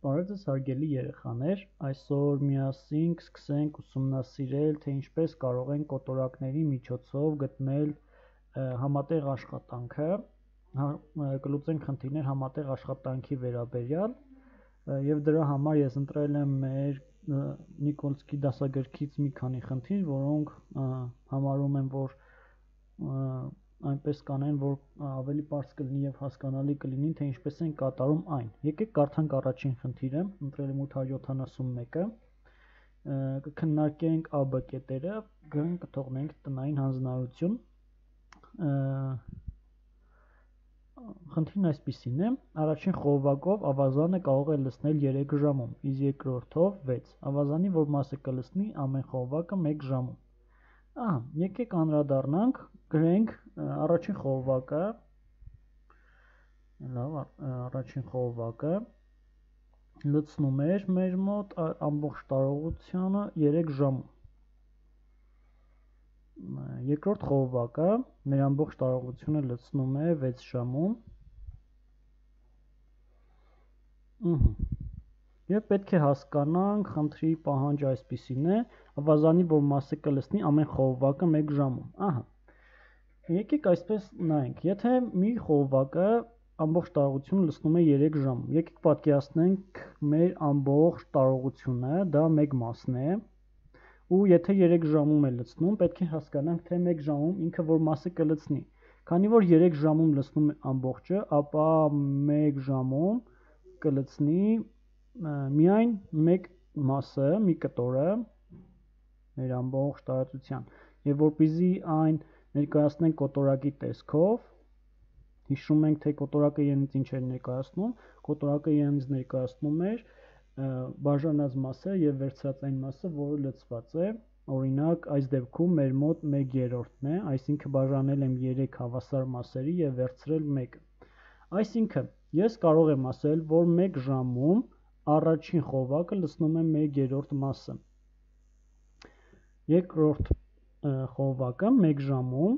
Բարև ձեզ հարգելի երեխաներ, այսօր միասին կսկսենք ուսումնասիրել, թե ինչպես կարող ենք կոտորակների միջոցով գտնել համատեղ աշխատանքը, կլուծենք խնդիրներ համատեղ աշխատանքի վերաբերյալ, եւ դրա համար ես ընտրել եմ մեր Նիկոլսկի դասագրքից մի քանի խնդիր, որոնք համարում եմ, որ այնպես կանեն, որ ավելի պարզ կլինի եւ հասկանալի կլինի, թե ինչպես են կատարում այն։ Եկեք կարդանք առաջին խնդիրը, ընտրել եմ 871-ը, կքննարկենք ԱԲ կետերը, կթողնենք տնային հանձնարարություն։ Խնդիրն այսպիսին է. առաջին խողովակով ավազանը կարող է լցնել 3 ժամում, իսկ երկրորդով 6։ Ավազանի որ մասը կլցնի ամեն խողովակը 1 ժամում։ Եկեք անդրադառնանք, գրենք առաջին խողովակը, առաջին խողովակը լցնում էր մեր մոտ ամբողջ տարողությունը 3 ժամում։ Երկրորդ խողովակը մեր ամբողջ տարողությունը լցնում է 6 ժամում։ Եվ պետք է հասկանանք, խնդրի պահանջը այսպիսին է, ավազանի որ մասը կլցնի ամեն խողովակը 1 ժամում։ Եկեք այսպես նայենք, եթե մի խողովակը ամբողջ տարողությունը լցնում է 3 ժամում, եկեք պատկերացնենք մեր ամբողջ տարողությունը, դա 1 մասն է, ու եթե 3 ժամում է լցնում, պետք է հասկանանք, թե 1 ժամում ինքը որ մասը կլցնի։ Քանի որ 3 ժամում լցնում է ամբողջը, ապա 1 ժամում կլցնի միայն 1 մասը, մի կտորը մեր ամբողջ տարածության, եւ որպեսզի այն ներկայացնենք կոտորակի տեսքով, հիշում ենք, թե կոտորակը իրենից ինչ էր ներկայացնում, կոտորակը իրենից ներկայացնում էր բաժանած մասը եւ վերցրած այն մասը, որը լցված է, օրինակ այս դեպքում մեր մոտ 1/3-ն է, այսինքն բաժանել եմ 3 հավասար մասերի եւ վերցրել 1-ը։ Այսինքն ես կարող եմ ասել, որ 1 ժամում առաջին խողովակը լցնում է 1/3 մասը։ Երկրորդ խողովակը 1 ժամում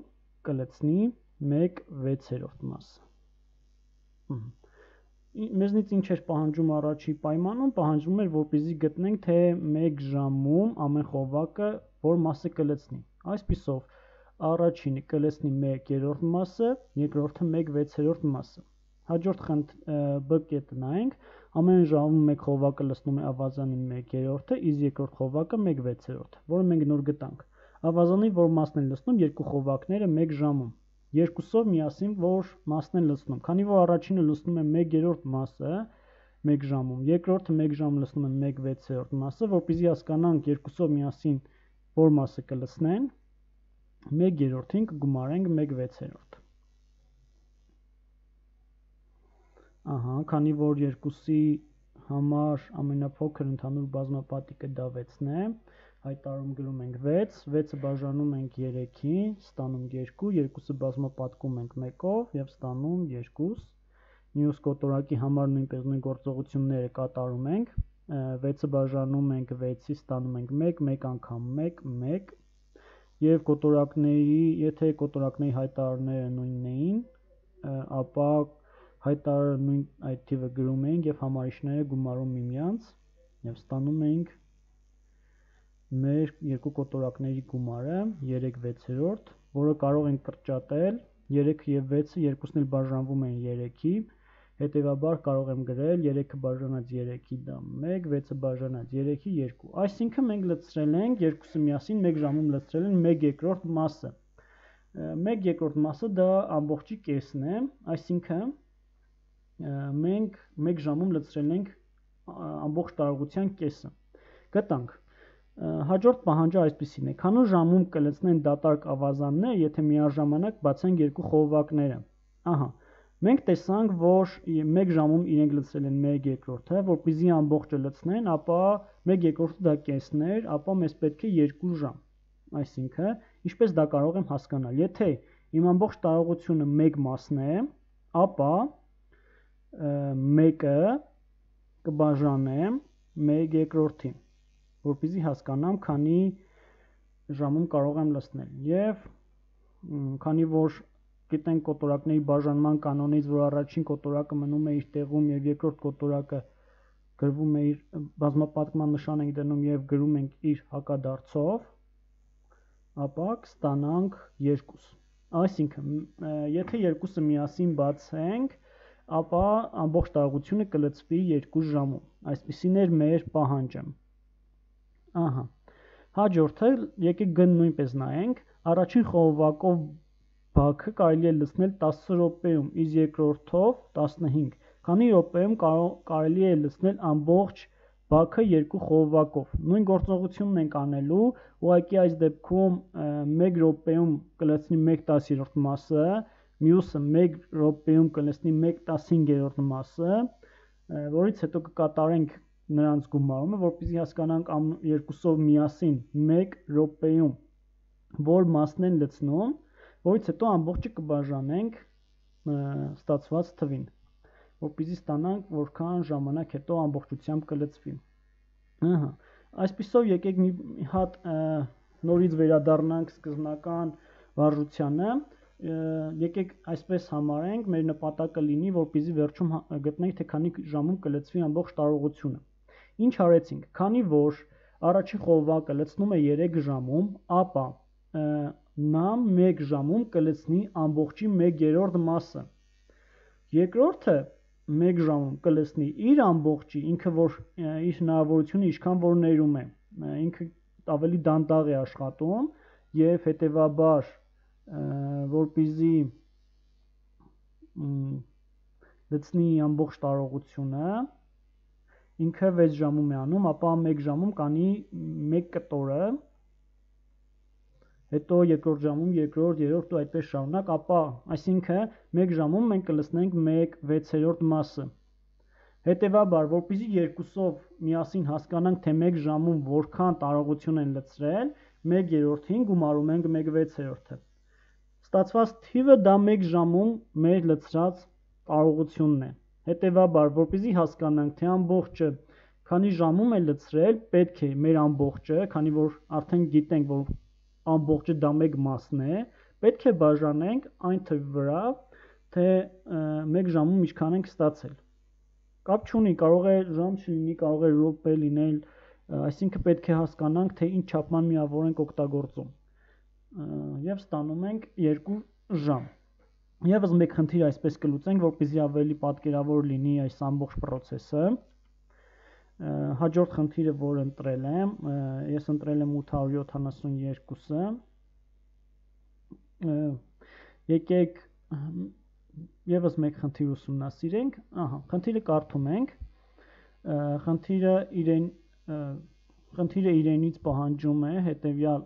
կլցնի 1/6 մասը։ Մեզնից ինչ էր պահանջում առաջի պայմանում, պահանջվում էր, որպեսզի գտնենք, թե 1 ժամում ամեն խողովակը որ մասը կլցնի։ Այսպիսով առաջինը կլցնի 1/3 մասը, երկրորդը 1/6 մասը։ Հաջորդ B կետը նայենք, ամեն ժամում մեկ խողովակը լցնում է ավազանի 1/3-ը, իսկ երկրորդ խողովակը 1/6, որը մենք նոր գտանք։ Ավազանի որ մասն են լցնում երկու խողովակները 1 ժամում։ Երկուսով միասին որ մասն են լցնում, քանի որ առաջինը լցնում է 1/3 մասը 1 ժամում, երկրորդը 1 ժամ լցնում է 1/6 մասը, որպեսզի հասկանանք երկուսով միասին որ մասը կլցնեն, 1/3-ին կգումարենք 1/6։ Քանի որ երկուսի համար ամենափոքր ընդհանուր բազմապատիկը դա 6-ն է, հայտարարում գրում ենք 6, 6-ը բաժանում ենք 3-ի, ստանում 2, 2-ը բազմապատկում ենք 1-ով եւ ստանում 2։ Մյուս կոտորակի համար նույնպես նույն գործողությունները կատարում ենք, 6-ը բաժանում ենք 6-ի, ստանում ենք 1, 1 անգամ 1, 1 եւ կոտորակների, եթե կոտորակների հայտարարները նույնն էին, ապա հայտարարը նույն այդ թիվը գրում էինք եւ համարիչները գումարում միմյանց եւ ստանում էինք մեր երկու կոտորակների գումարը 3/6, որը կարող ենք կրճատել, 3-ը եւ 6-ը երկուսն էլ բաժանվում են 3-ի, հետեւաբար կարող եմ գրել 3-ը բաժանած 3-ի դա 1, 6-ը բաժանած 3-ի 2։ Այսինքն մենք լցրել ենք, երկուսը միասին 1 ժամում լցրել են 1/2 մասը։ 1/2 մասը դա ամբողջի կեսն է, այսինքն մենք 1 ժամում լցրել ենք ամբողջ տարողության կեսը։ Գտանք։ Հաջորդ պահանջը այսպիսին է. քանի ժամում կլցնեն դատարկ ավազանները, եթե միաժամանակ բացենք երկու խողովակները։ Մենք տեսանք, որ 1 ժամում իրենք լցրել են 1/2-ը, որպեսզի ամբողջը լցնեն, ապա 1/2-ը դա կեսն էր, ապա մեզ պետք է 2 ժամ։ Այսինքն, ինչպես դա կարող եմ հասկանալ, եթե իմ ամբողջ տարողությունը 1 մասն է, ապա 1-ը կբաժանեմ 1/2-ին, որպեսզի հասկանամ, քանի ժամում կարող եմ լցնել։ Եվ քանի որ գիտենք կոտորակների բաժանման կանոնից, որ առաջին կոտորակը մնում է իր տեղում եւ երկրորդ կոտորակը գրվում է իր բազմապատկման նշան ենք դնում եւ գրում ենք իր հակադարձով, ապա կստանանք 2։ Այսինքն, եթե երկուսը միասին բացենք, ապա ամբողջ տարողությունը կլցվի 2 ժամում։ Այսպիսին էր մեր պահանջը։ Ահա։ Հաջորդը եկեք գն նույնպես նայենք, առաջին խողովակով բաքը կարելի է լցնել 10 րոպեում, իսկ երկրորդով 15։ Քանի րոպեում կարելի է լցնել ամբողջ բաքը 2 խողովակով։ Նույն գործողությունն ենք անելու, ուղղակի այս դեպքում 1 րոպեում կլցնի 1/10 մասը, մյուսը 1 րոպեում կլցնի 1/15 մասը, որից հետո կկատարենք նրանց գումարումը, որպեսզի հասկանանք երկուսով միասին 1 րոպեում որ մասն են լցնում, որից հետո ամբողջը կբաժանենք ստացված թվին, որպեսզի ստանանք որքան ժամանակ հետո ամբողջությամբ կլցվի։ Ահա, այսպիսով եկեք մի հատ նորից վերադառնանք սկզբնական վարժությանը, եկեք այսպես համարենք, մեր նպատակը լինի, որպեսզի վերջում գտնենք, թե քանի ժամում կլցվի ամբողջ տարողությունը։ Ինչ արեցինք, քանի որ առաջին խողովակը լցնում է 3 ժամում, ապա նա 1 ժամում կլցնի ամբողջի 1/3 մասը։ Երկրորդը 1 ժամում կլցնի իր ամբողջի, ինքը որ իր հնարավորությունը ինչքան որ ներում է, ինքը ավելի դանդաղ է աշխատում եւ հետեւաբար որպեսզի լցնի ամբողջ տարողությունը, ինքը 6 ժամում է անում, ապա 1 ժամում կանի 1 կտորը, հետո երկրորդ ժամում, երրորդ ու այդպես շարունակ, ապա այսինքն 1 ժամում մենք կլցնենք 1/6 մասը։ Հետևաբար, որպեսզի երկուսով միասին հասկանանք, թե 1 ժամում որքան տարողություն են լցրել, 1/3-ին գումարում ենք 1/6-ը։ Ստացված թիվը դա 1 ժամում մեր լցրած տարողությունն է։ Հետևաբար, որպեսզի հասկանանք, թե ամբողջը քանի ժամում է լցրել, պետք է մեր ամբողջը, քանի որ արդեն գիտենք, որ ամբողջը դա 1 մասն է, պետք է բաժանենք այն թվի վրա, թե 1 ժամում ինչքան ենք ստացել։ Կապ չունի, կարող է ժամ չլինի, կարող է րոպե լինել, այսինքն պետք է հասկանանք, թե ինչ չափման միավոր ենք օգտագործում։ Եվ ստանում ենք 2 ժամ։ Եվս մեկ խնդիր այսպես կլուծենք, որպեսզի ավելի պատկերավոր լինի այս ամբողջ process-ը։ Հաջորդ խնդիրը, որ ընտրել եմ, ես ընտրել եմ 872-ը։ Եկեք եւս մեկ խնդիր ուսումնասիրենք։ Ահա, խնդիրը կարդում ենք։ Խնդիրը իրենից պահանջում է հետեւյալ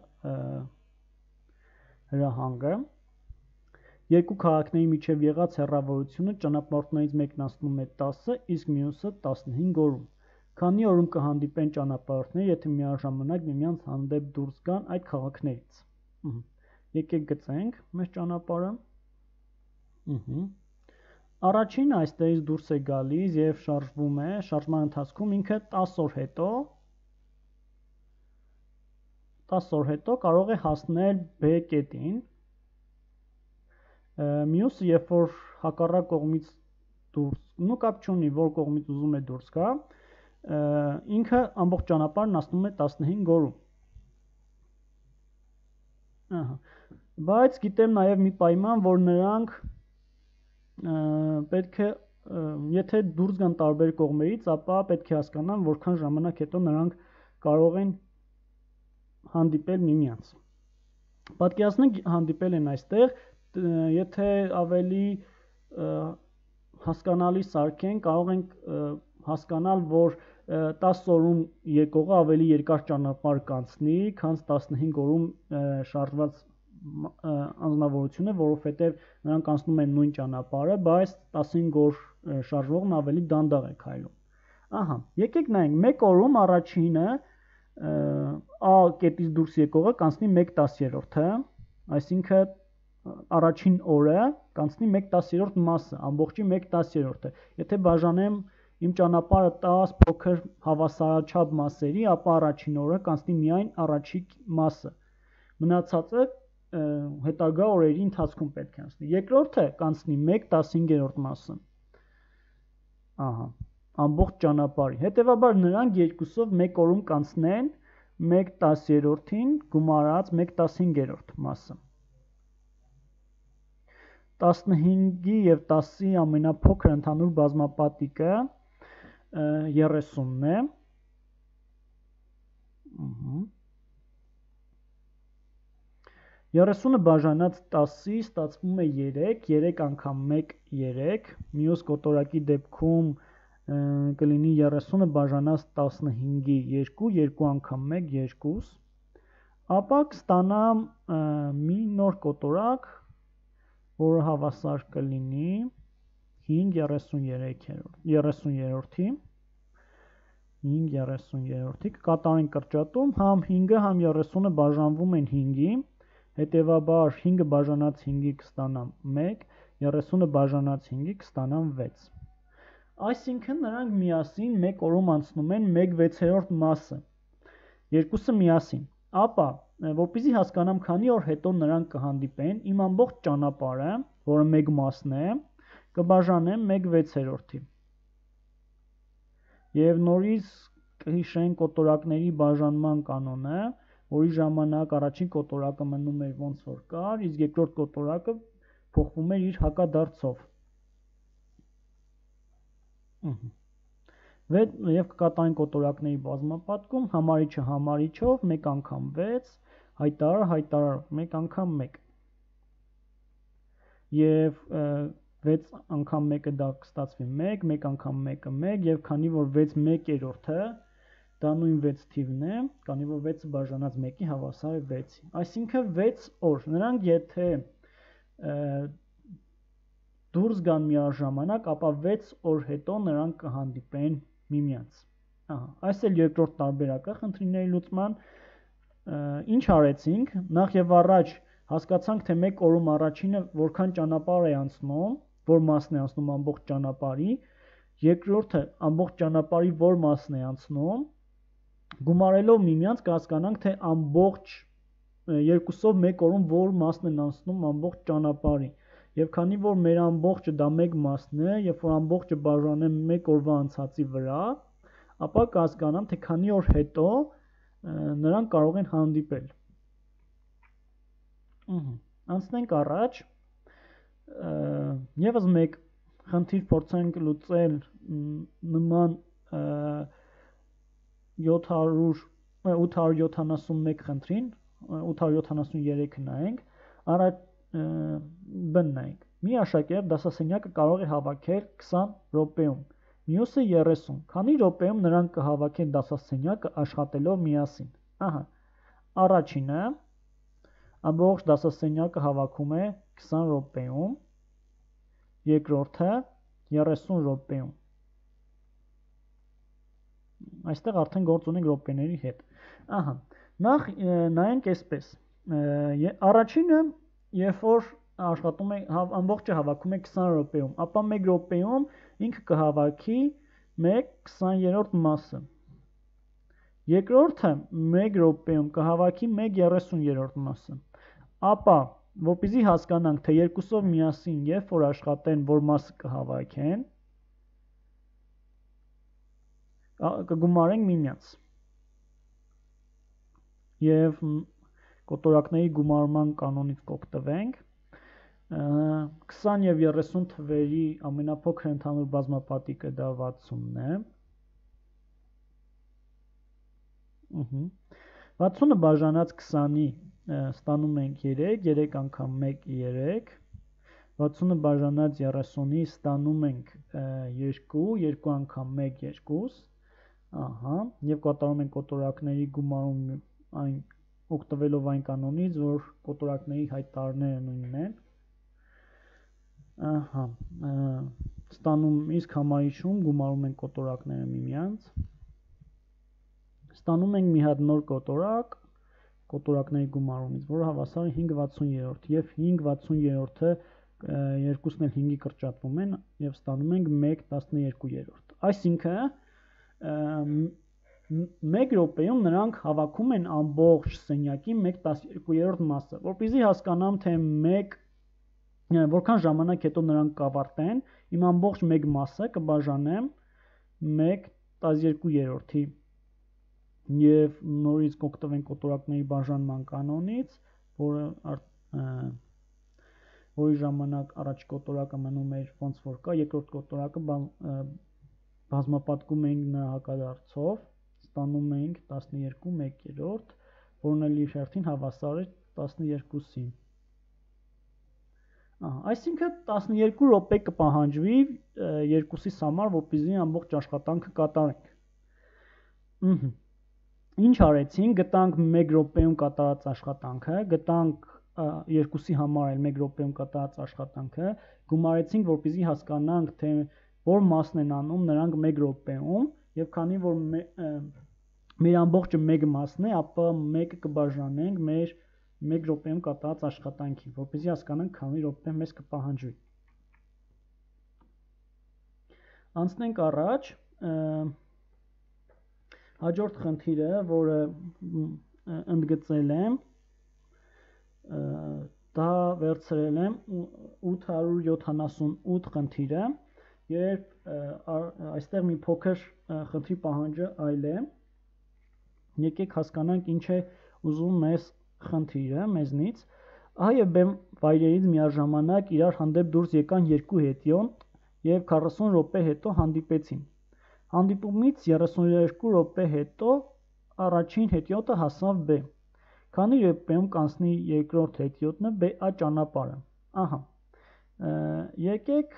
հրահանգը։ Երկու քաղաքների միջև եղած հեռավորությունը ճանապարհորդներից մեկն անցնում է 10, իսկ մյուսը 15 օրում։ Քանի օրում կհանդիպեն ճանապարհորդները, եթե միաժամանակ միմյանց հանդեպ դուրս գան այդ քաղաքներից։ Եկեք գծենք մեր ճանապարհը։ Առաջինը այստեղից դուրս է գալիս եւ շարժվում է, շարժման ընթացքում ինքը 10 օր հետո կարող է հասնել B կետին։ Մյուսը, երբ որ հակառակ կողմից դուրս, նո կապ չունի, որ կողմից ուզում է դուրս գա, ինքը ամբողջ ճանապարհն անցնում է 15 օրում։ Ահա։ Բայց գիտեմ նաև մի պայման, որ նրանք պետք է, եթե դուրս գան տարբեր կողմերից, ապա պետք է հասկանան, որքան ժամանակ հետո նրանք կարող են հանդիպել միմյանց։ Պատկերացնենք հանդիպել են այստեղ, եթե ավելի հասկանալի սարքենք, կարող ենք հասկանալ, որ 10 օրում եկողը ավելի երկար ճանապարհ կանցնի, քան 15 օրում շարժված անձնավորությունը, որովհետև նրանք անցնում են նույն ճանապարհը, բայց 15 օր շարժվողն ավելի դանդաղ է քայլում։ Ահա, եկեք նայենք, 1 օրում առաջինը A կետից դուրս եկողը կանցնի 1/10-ը, այսինքն առաջին օրը կանցնի 1/10 մասը, ամբողջի 1/10-ը։ Եթե բաժանեմ իմ ճանապարհը 10 փոքր հավասարաչափ մասերի, ապա առաջին օրը կանցնի միայն առաջի մասը։ Մնացածը հետագա օրերի ընթացքում պետք է անցնի։ Երկրորդը կանցնի 1/15 մասը։ Ահա։ ամբողջ ճանապարհի։ Հետևաբար նրանք երկուսով 1 օրում կանցնեն 1/10-ին գումարած 1/15 մասը։ 15-ի և 10-ի ամենափոքր ընդհանուր բազմապատիկը 30-ն է։ 30-ը բաժանած 10-ի ստացվում է 3, 3 անգամ 1 3, մյուս կոտորակի դեպքում կլինի 30-ը բաժանած 15-ի 2, 2 անգամ 1 2, ապա կստանամ մի նոր կոտորակ, որը հավասար կլինի 5/33-ի, 5/33-ի, կկատարենք կրճատում, համ 5-ը համ 30-ը բաժանվում են 5-ի, հետևաբար 5-ը բաժանած 5-ի կստանամ 1, 30-ը բաժանած 5-ի կստանամ 6։ Այսինքն նրանք միասին 1 օրում անցնում են 1/6 մասը, երկուսը միասին, ապա որպեսզի հասկանամ քանի օր հետո նրանք կհանդիպեն, իմ ամբողջ ճանապարհը, որը 1 մասն է, կբաժանեմ 1/6-ի։ Եվ նորից կհիշենք կոտորակների բաժանման կանոնը, որի ժամանակ առաջին կոտորակը մնում էր ոնց որ կար, իսկ երկրորդ կոտորակը փոխվում էր իր հակադարձով։ Եվ կկատարենք կոտորակների բազմապատկում, համարիչը համարիչով, 1 անգամ 6, հայտարար հայտարարով, 1 անգամ 1։ Եվ 6 անգամ 1-ը դա կստացվի 1, 1 անգամ 1-ը 1, և քանի որ 6 1/3-ը, դա նույն 6 թիվն է, քանի որ 6-ը բաժանած 1-ի հավասար է 6-ի։ Այսինքն 6 օր, նրանք եթե դուրս գան միաժամանակ, ապա 6 օր հետո նրանք կհանդիպեն միմյանց։ Այս էլ երկրորդ տարբերակը խնդիրների լուծման։ Ինչ արեցինք, նախ եւ առաջ հասկացանք, թե 1 օրում առաջինը որքան ճանապարհ է անցնում, որ մասն է անցնում ամբողջ ճանապարհի, երկրորդը ամբողջ ճանապարհի որ մասն է անցնում, գումարելով միմյանց կհասկանանք, թե ամբողջ երկուսով 1 օրում որ մասն են անցնում ամբողջ ճանապարհի։ Եվ քանի որ մեր ամբողջը դա 1 մասն է, երբ որ ամբողջը բաժանեմ 1 օրվա անցածի վրա, ապա կհասկանամ, թե քանի օր հետո նրանք կարող են հանդիպել։ Անցնենք առաջ, եւս մեկ խնդիր փորձենք լուծել նման 871 խնդրին, 873-ը նայենք, նայենք։ Մի աշակերտ դասասենյակը կարող է հավաքել 20 րոպեում, մյուսը 30, քանի րոպեում նրանք կհավաքեն դասասենյակը աշխատելով միասին։ Առաջինը ամբողջ դասասենյակը հավաքում է 20 րոպեում, երկրորդը 30 րոպեում։ Այստեղ արդեն գործ ունենք րոպեների հետ։ Նախ նայենք այսպես։ Առաջինը, երբ որ աշխատում է, ամբողջը հավաքում է 20 րոպեում, ապա 1 րոպեում ինքը կհավաքի 1/20 մասը։ Երկրորդը 1 րոպեում կհավաքի 1/30 մասը։ Ապա, որպեսզի հասկանանք, թե երկուսով միասին երբ որ աշխատեն, որ մասը կհավաքեն, կգումարենք միմյանց։ Եվ կոտորակների գումարման կանոնից կօգտվենք։ 20 և 30 թվերի ամենափոքր ընդհանուր բազմապատիկը դա 60-ն է։ 60-ը բաժանած 20-ի ստանում ենք 3, 3 անգամ 1 3, 60-ը բաժանած 30-ի ստանում ենք 2, 2 անգամ 1 2, և կատարում ենք կոտորակների գումարում օգտվելով այն կանոնից, որ կոտորակների հայտարարները նույնն են։ Ստանում իսկ համարիչում գումարում ենք կոտորակները միմյանց։ Ստանում ենք մի հատ նոր կոտորակ կոտորակների գումարումից, որը հավասար է 5/63, և 5/63-ը երկուսն էլ 5-ի կրճատվում են և ստանում ենք 1/12։ Այսինքն 1 րոպեում նրանք հավաքում են ամբողջ սենյակի 1/12 մասը, որպեսզի հասկանամ, թե որքան ժամանակ հետո նրանք կավարտեն, իմ ամբողջ 1 մասը կբաժանեմ 1/12 եւ նորից կօգտվենք կոտորակների բաժանման կանոնից, որի ժամանակ առաջի կոտորակը մնում էր ոնց որ կա, երկրորդ կոտորակը բազմապատկում էինք նրա հակադարձով, ստանում էինք 12/1, որն էլ իր հերթին հավասար է 12-ին։ Այսինքն 12 րոպե կպահանջվի երկուսիս համար, որպեսզի ամբողջ աշխատանքը կատարենք։ Ինչ արեցինք, գտանք 1 րոպեում կատարած աշխատանքը, գտանք երկուսի համար էլ 1 րոպեում կատարած աշխատանքը, գումարեցինք, որպեսզի հասկանանք, թե որ մասն են անում նրանք 1 րոպեում, եւ քանի որ մեր ամբողջը 1 մասն է, ապա 1-ը կբաժանենք մեր 1 րոպեում կատարած աշխատանքին, որպեսզի հասկանանք քանի րոպե մեզ կպահանջվի։ Անցնենք առաջ, հաջորդ խնդիրը, որը ընդգծել եմ, դա վերցրել եմ 878 խնդիրը, երբ այստեղ մի փոքր խնդրի պահանջը այլ է, եկեք հասկանանք ինչ է ուզում մեզ խնդիրը մեզնից, ահա եւ բեմ վայրերից միաժամանակ իրար հանդեպ դուրս եկան երկու հետիոտ եւ 40 րոպե հետո հանդիպեցին։ Հանդիպումից 32 րոպե հետո առաջին հետիոտը հասավ B։ Քանի րոպեում կանցնի երկրորդ հետիոտնը BA ճանապարհը։ Ահա։ Եկեք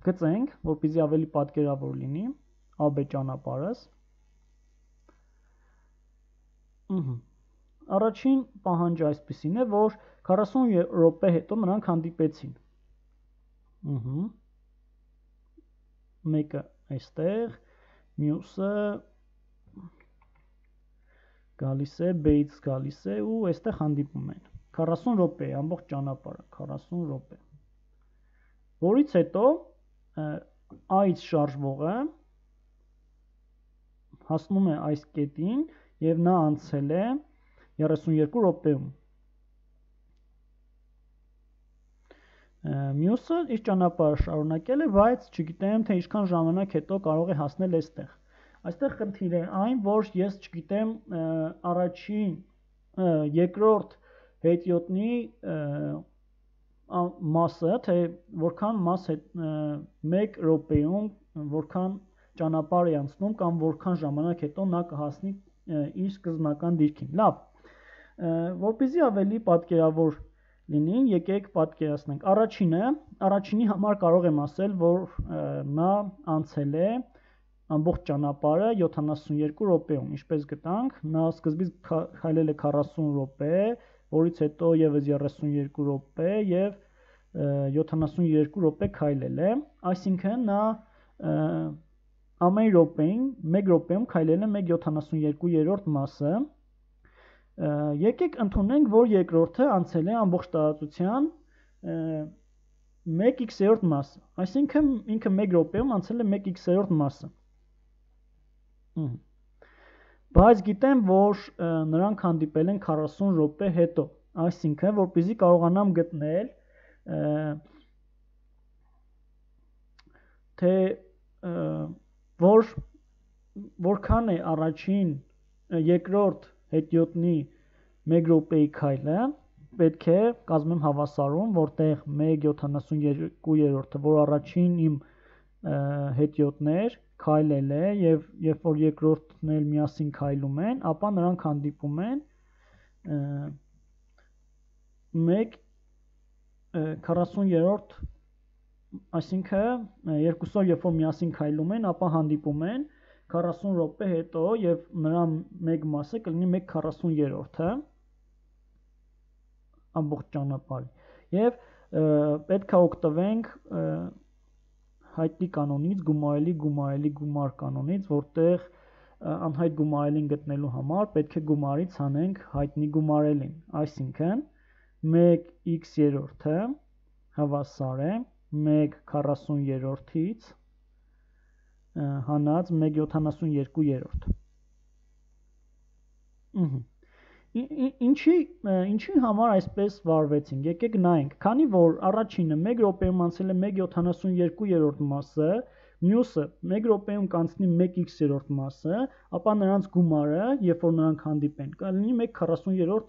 գծենք, որպեսզի ավելի պատկերավոր լինի AB ճանապարհս։ Առաջին պահանջը այսպեսին է, որ 40 րոպե հետո նրանք հանդիպեցին։ Մեկը այստեղ, մյուսը գալիս է, B-ից գալիս է ու այստեղ հանդիպում են։ 40 րոպե է ամբողջ ճանապարհը, 40 րոպե։ Որից հետո A-ից շարժվողը հասնում է այս կետին եւ նա անցել է 32 րոպեում։ Մյուսը իր ճանապարհը շարունակել է, բայց չգիտեմ, թե ինչքան ժամանակ հետո կարող է հասնել այստեղ։ Այստեղ խնդիրը այն, որ ես չգիտեմ առաջին, երկրորդ հետիոտնի մասը, թե որքան մաս է 1 րոպեում, որքան ճանապարհ է անցնում կամ որքան ժամանակ հետո նա կհասնի իր սկզբնական դիրքին։ Լավ, որպեսզի ավելի պատկերավոր լինի, եկեք պատկերացնենք։ Առաջինի համար կարող եմ ասել, որ նա անցել է ամբողջ ճանապարհը 72 րոպեում, ինչպես գտանք, նա սկզբից քայլել է 40 րոպե, որից հետո եւս 32 րոպե եւ 72 րոպե քայլել է, այսինքն նա ամեն րոպեին 1 րոպեում քայլել է 1/72 մասը։ Եկեք ընդունենք, որ երկրորդը անցել է ամբողջ տարածության 1x-րդ մասը, այսինքն ինքը 1 րոպեում անցել է 1x-րդ մասը։ Բայց գիտեմ, որ նրանք հանդիպել են 40 րոպե հետո, այսինքն, որպեսզի կարողանամ գտնել, թե որքան է առաջին, երկրորդ հետիոտնի 1 րոպեի քայլը, պետք է կազմեմ հավասարում, որտեղ 1/72, որ առաջին իմ հետիոտն էր, քայլել է եւ երբ որ երկրորդն էլ միասին քայլում են, ապա նրանք հանդիպում են 1/40, այսինքն երկուսով երբ որ միասին քայլում են, ապա հանդիպում են 40 րոպե հետո եւ նրա մեկ մասը կլինի 1/40 ամբողջ ճանապարհի եւ պետք է օգտվենք հայտնի կանոնից, գումար կանոնից, որտեղ անհայտ գումարելին գտնելու համար պետք է գումարից հանենք հայտնի գումարելին, այսինքն 1x-ը հավասար է 1/40-ից հանած 1/72։ Ինչի համար այսպես վարվեցինք, եկեք նայենք, քանի որ առաջինը 1 րոպեում անցել է 1/72 մասը, մյուսը 1 րոպեում կանցնի 1x-րդ մասը, ապա նրանց գումարը, երբ որ նրանք հանդիպեն, կլինի 1/43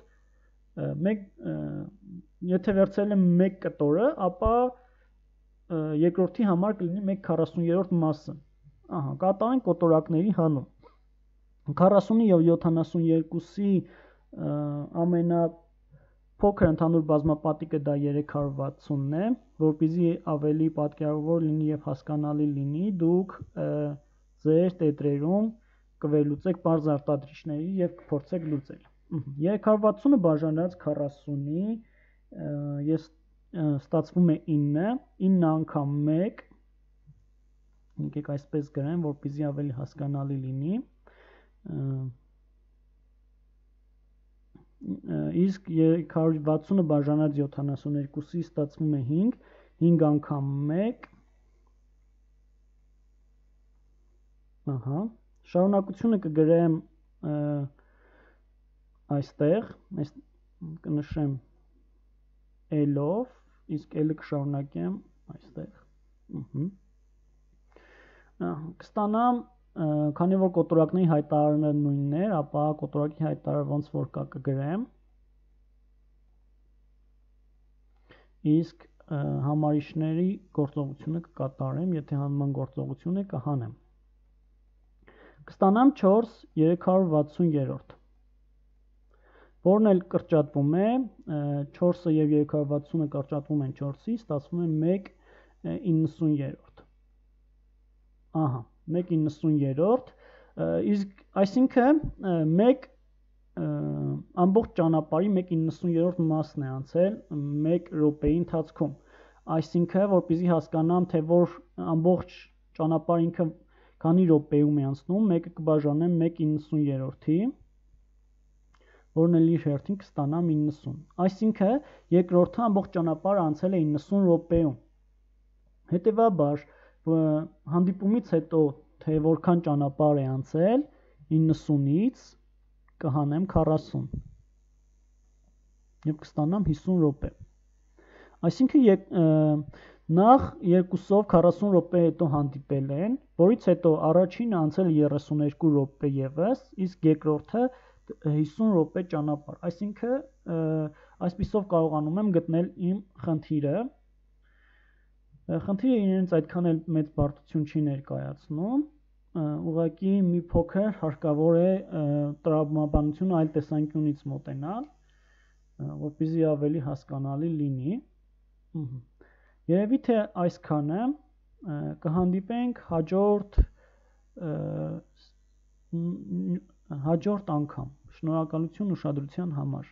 եթե վերցրել եմ 1 կտորը, ապա երկրորդի համար կլինի 1/43 մասը։ Ահա, կատարենք կոտորակների հանում։ 40-ի եւ 72-ի ամենափոքր ընդհանուր բազմապատիկը դա 360-ն է, որպեսզի ավելի պատկերավոր լինի եւ հասկանալի լինի, դուք ձեր տետրերում կվերլուծեք բարձ արտադրիչների եւ կփորձեք լուծել։ 360-ը բաժանած 40-ի ես ստացվում է 9 անգամ 1, եկեք այսպես գրեմ, որպեսզի ավելի հասկանալի լինի, իսկ 360-ը բաժանած 72-ի ստացվում է 5 անգամ 1, ահա, շարունակությունը կգրեմ այստեղ, կնշեմ L-ով, իսկ L-ը կշարունակեմ այստեղ, կստանամ, քանի որ կոտորակների հայտարարը նույնն էր, ապա կոտորակի հայտարարը ոնց որ կա կգրեմ, իսկ համարիչների գործողությունը կկատարեմ, եթե հանման գործողություն է կհանեմ, կստանամ 4 360-րդ, որն էլ կրճատվում է, 4-ը և 360-ը կրճատվում են 4-ի, ստացվում է 1/90-րդ, ահա, 1/90-րդ, իսկ այսինքն 1 ամբողջ ճանապարհի 1/90-րդ մասն է անցել 1 րոպեի ընթացքում, այսինքն որպեսզի հասկանամ, թե որ ամբողջ ճանապարհը ինքը քանի րոպեում է անցնում, 1-ը կբաժանեմ 1/90-րդի, որն էլ իր հերթին կստանամ 90, այսինքն երկրորդը ամբողջ ճանապարհը անցել է 90 րոպեում, հետևաբար հանդիպումից հետո, թե որքան ճանապարհ է անցել, 90-ից կհանեմ 40 և կստանամ 50 րոպե, այսինքն նախ երկուսով 40 րոպե հետո հանդիպել են, որից հետո առաջինը անցել է 32 րոպե ևս, իսկ երկրորդը 50 րոպե ճանապարհ, այսինքն այսպիսով կարողանում եմ գտնել իմ խնդիրը, խնդիրը իրենից այդքան էլ մեծ բարդություն չի ներկայացնում, ուղղակի մի փոքր հարկավոր է տրամաբանությունը այլ տեսանկյունից մոտենալ, որպեսզի ավելի հասկանալի լինի, երևի թե այսքանը, կհանդիպենք հաջորդ անգամ, շնորհակալություն ուշադրության համար։